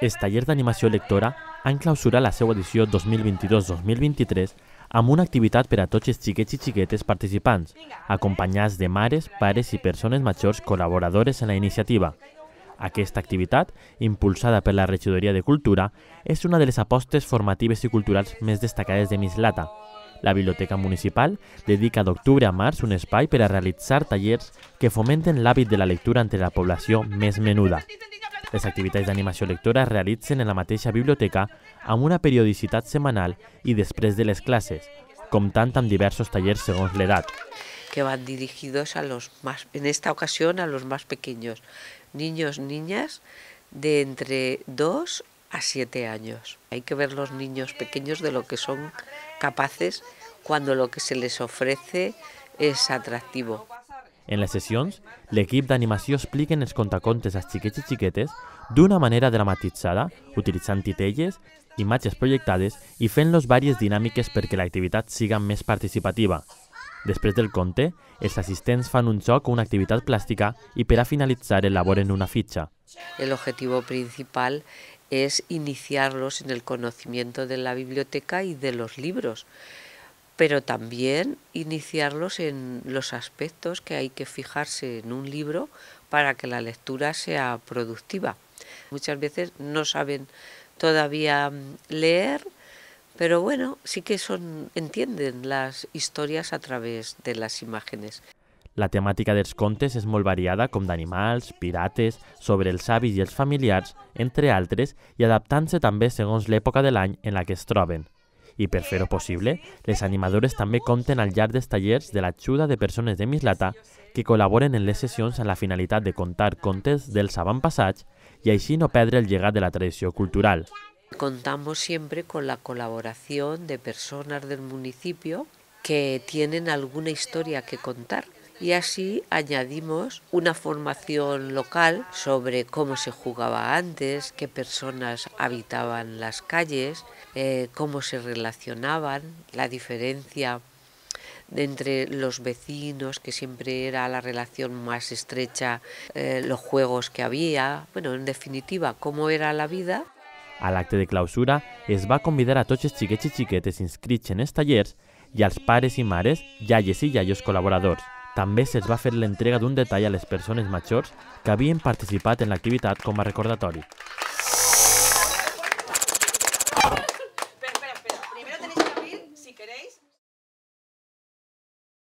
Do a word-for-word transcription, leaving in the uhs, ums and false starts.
Els tallers d'animació lectora han clausurat la seva edició dos mil vint-i-dos dos mil vint-i-tres amb una activitat per a tots els xiquets i xiquetes participants, acompanyats de mares, pares i persones majors col·laboradores en la iniciativa. Aquesta activitat, impulsada per la Regidoria de Cultura, és una de les apostes formatives i culturals més destacades de Mislata. La Biblioteca Municipal dedica d'octubre a març un espai per a realitzar tallers que fomenten l'hàbit de la lectura entre la població més menuda. Les activitats d'animació lectora es realitzen en la mateixa biblioteca amb una periodicitat setmanal i després de les classes, comptant amb diversos tallers segons l'edat. Que van dirigidos a los más, en esta ocasión a los más pequeños, niños, niñas de entre dos a siete años. Hay que ver los niños pequeños de lo que son capaces cuando lo que se les ofrece es atractivo. En les sessions, l'equip d'animació explica els contacontes als xiquets i xiquetes d'una manera dramatitzada, utilitzant titelles, imatges projectades i fent-los diverses dinàmiques perquè l'activitat siga més participativa. Després del conte, els assistents fan un joc o una activitat plàstica i per a finalitzar elaboren una fitxa. El objetivo principal es iniciarlos en el conocimiento de la biblioteca y de los libros, pero también iniciarlos en los aspectos que hay que fijarse en un libro para que la lectura sea productiva. Muchas veces no saben todavía leer, pero bueno, sí que son, entienden las historias a través de las imágenes. La temàtica dels contes és molt variada, com d'animals, pirates, sobre els avis i els familiars, entre altres, i adaptant-se també segons l'època de l'any en la que es troben. I per fer-ho possible, les animadores també compten al llarg dels tallers de l'ajuda de persones de Mislata que col·laboren en les sessions amb la finalitat de contar contes dels avantpassats i així no perdre el llegat de la tradició cultural. Contamos siempre con la colaboración de personas del municipio que tienen alguna historia que contar. Y así añadimos una formación local sobre cómo se jugaba antes, qué personas habitaban las calles, eh, cómo se relacionaban, la diferencia entre los vecinos, que siempre era la relación más estrecha, eh, los juegos que había, bueno, en definitiva, cómo era la vida. A l'acte de clausura es va convidar a tots els xiquets i xiquetes inscrits en els tallers i als pares i mares, iaies i iaios col·laboradors. També se'ls va fer l'entrega d'un detall a les persones majors que havien participat en l'activitat com a recordatori.